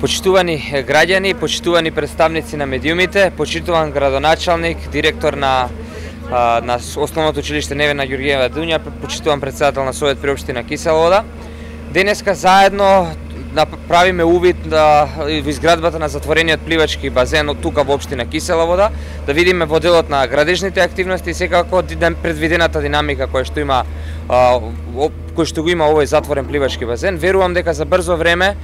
Почитувани граѓани, почитувани представници на медиумите, почитуван градоначалник, директор на Основното училиште Невена Ѓурѓиева Дунја, почитуван председател на Совет при општина Кисела Вода. Денеска заедно правиме увид во изградбата на затворениот пливачки базен од тука во општина Кисела Вода, да видиме во делот на градежните активности и секако предвидената динамика која што го има овој затворен пливачки базен. Верувам дека за брзо време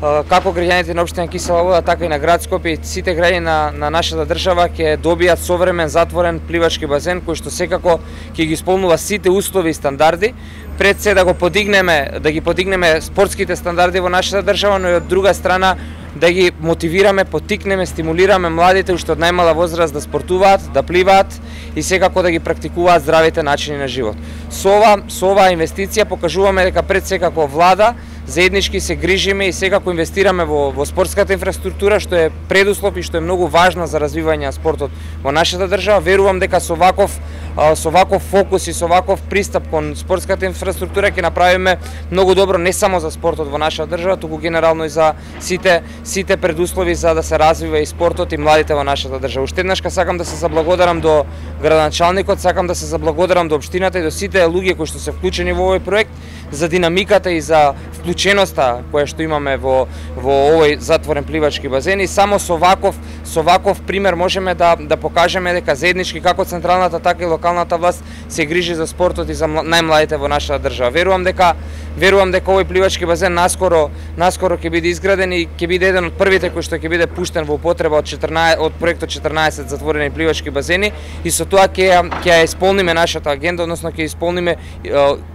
како граѓаните на општина Кисела Вода, така и на град Скопје и сите граѓани на нашата држава ќе добијат современ затворен пливачки базен кој што секако ќе ги исполнува сите услови и стандарди. Пред се да ги подигнеме спортските стандарди во нашата држава, но и од друга страна да ги мотивираме, поттикнеме, стимулираме младите уште од најмала возраст да спортуваат, да пливаат и секако да ги практикуваат здравите начини на живот. Со оваа инвестиција покажуваме дека пред секако влада заеднички се грижиме и секако инвестираме во спортската инфраструктура, што е предуслов и што е многу важна за развивање на спортот во нашата држава. Верувам дека со ваков фокус и со ваков пристап кон спортската инфраструктура ќе направиме многу добро не само за спортот во нашата држава, туку генерално и за сите предуслови за да се развива и спортот и младите во нашата држава. Уште еднаш сакам да се заблагодарам до градоначалникот, сакам да се заблагодарам до општината и до сите луѓе кои што се вклучени во овој проект за динамиката и за вклученоста која што имаме во овој затворен пливачки базен и само со ваков пример можеме да покажеме дека заеднички како централната така и локалната власт се грижи за спортот и за најмладите во нашата држава. Верувам дека овој пливачки базен наскоро ќе биде изграден и ќе биде еден од првите кој што ќе биде пуштен во употреба од проектот 14 затворени пливачки базени и со тоа ќе ја исполниме нашата агенда, односно ќе исполниме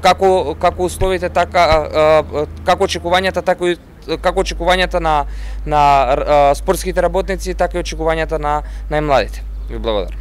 како условите така како очекувањата на спортските работници, така и очекувањата на најмладите. Ви благодарам.